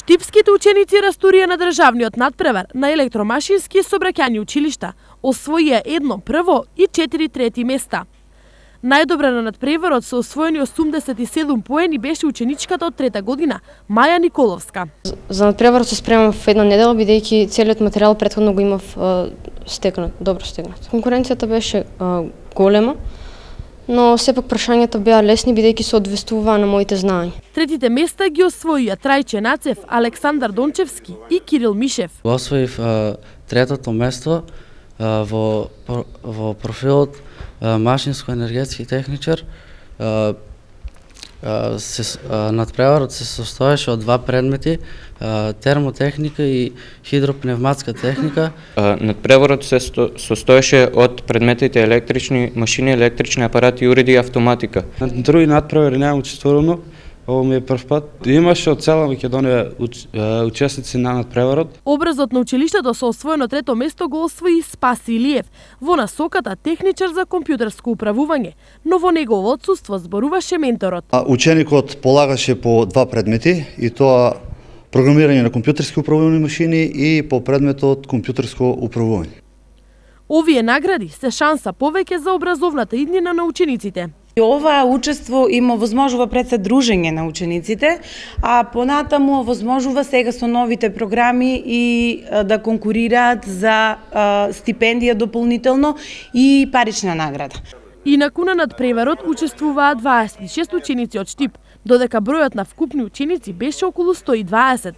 Штипските ученици расторија на државниот надпревар на електромашински и сообраќајни училишта освоија 1 прво и 4 трети места. Најдобра на надпреварот со освоени 87 поени беше ученичката од трета година, Маја Николовска. За надпреварот се спремам в една недела, бидејќи целиот материјал претходно го имав стекнат, добро стекнат. Конкуренцијата беше голема, но сепак прашањата беа лесни бидејќи се одвестуваа на моите знаења. Третите места ги освоија Трајче Нацев, Александар Дончевски и Кирил Мишев. Освоив третото место во профилот машинско-енергетски техничар. Надпреварот се состоеше од два предмети, термотехника и хидропневматска техника. Надпреварот се состоеше од предметите електрични машини, електрични апарати, уреди и автоматика. На други надпревари немам учествувано. Ово ми е прв пат. Имаше од цела Македонија учесници на надпреварот. Образот на училиштето со освоено трето место го освои Спаси Илиев во насоката техничар за компјутерско управување, но во негово отсуство зборуваше менторот. Ученикот полагаше по два предмети, и тоа програмирање на компјутерски управувани машини и по предметот компјутерско управување. Овие награди се шанса повеќе за образовната иднина на учениците. Ова учество им овозможува пред се дружење на учениците, а понатаму овозможува сега со новите програми и да конкурираат за стипендија дополнително и парична награда. Инаку на надпреварот учествуваат 26 ученици од Штип, додека бројот на вкупни ученици беше околу 120.